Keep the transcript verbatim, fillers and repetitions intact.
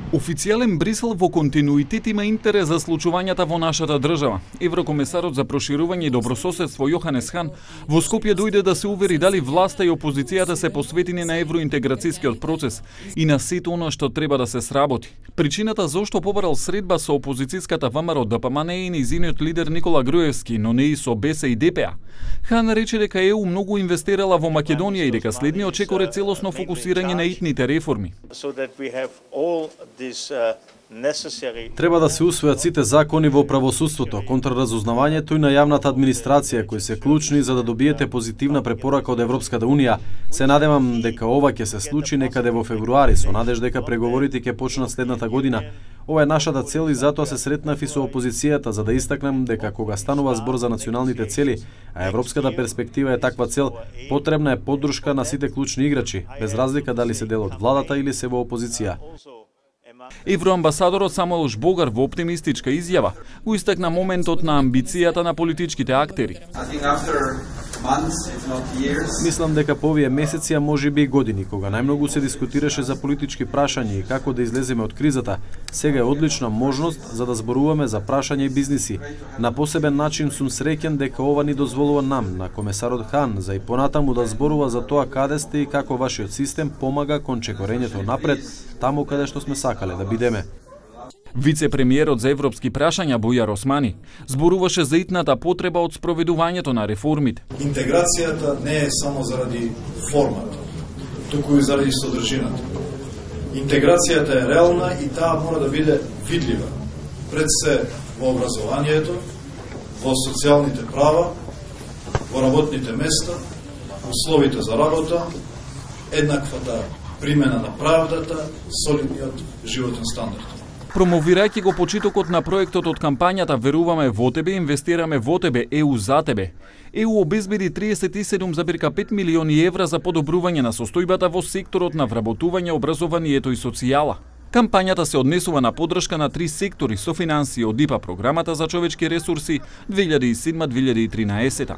Официјален Брисел во континуитет има интерес за случувањата во нашата држава. Еврокомесарот за проширување и добрососедство Јоханес Хан во Скопје дојде да се увери дали власта и опозицијата се посветени на евроинтеграцијскиот процес и на сето она што треба да се сработи. Причината зошто побарал средба со опозицијската ВМРО ДПМН не е нејзиниот лидер Никола Груевски, но не и со БЕС и ДПА. Хан рече дека ЕУ многу инвестирала во Македонија и дека следниот чекор е целосно фокусирање на итните реформи. Треба да се усвојат сите закони во правосудството, контраразузнавањето и на јавната администрација, кои се клучни за да добиете позитивна препорака од Европската Унија. Се надевам дека ова ќе се случи некаде во февруари, со надеж дека преговорите ќе почнат следната година. Ова е нашата цел и затоа се сретнав и со опозицијата за да истакнем дека кога станува збор за националните цели, а европската перспектива е таква цел, потребна е поддршка на сите клучни играчи, без разлика дали се дел од владата или се во опозиција. Евроамбасадорот Самуел Жбогар во оптимистичка изјава го истакна моментот на амбицијата на политичките актери. Мислам дека по овие месеци, а можеби и години, кога најмногу се дискутираше за политички прашања и како да излеземе од кризата, сега е одлична можност за да зборуваме за прашања и бизниси. На посебен начин сум среќен дека ова ни дозволува нам, на комесарот Хан, за и понатаму да зборува за тоа каде сте и како вашиот систем помага кон чекорењето напред, таму каде што сме сакале да бидеме. Вице-премиерот за европски прашања Бујар Османи зборуваше за итната потреба од спроведувањето на реформите. Интеграцијата не е само заради формата, туку и заради содржината. Интеграцијата е реална и таа мора да биде видлива. Пред се во образованието, во социјалните права, во работните места, условите за работа, еднаквата примена на правдата, солидниот животен стандард. Промовирајќи го почитокот на проектот од кампањата Веруваме во тебе, инвестираме во тебе, ЕУ за тебе, ЕУ обезбеди триесет и седум зарез пет милиони евра за подобрување на состојбата во секторот на вработување, образованието и социјала. Кампањата се однесува на поддршка на три сектори со финансии од ИПА програмата за човечки ресурси две илјади и седма - две илјади и тринаесета.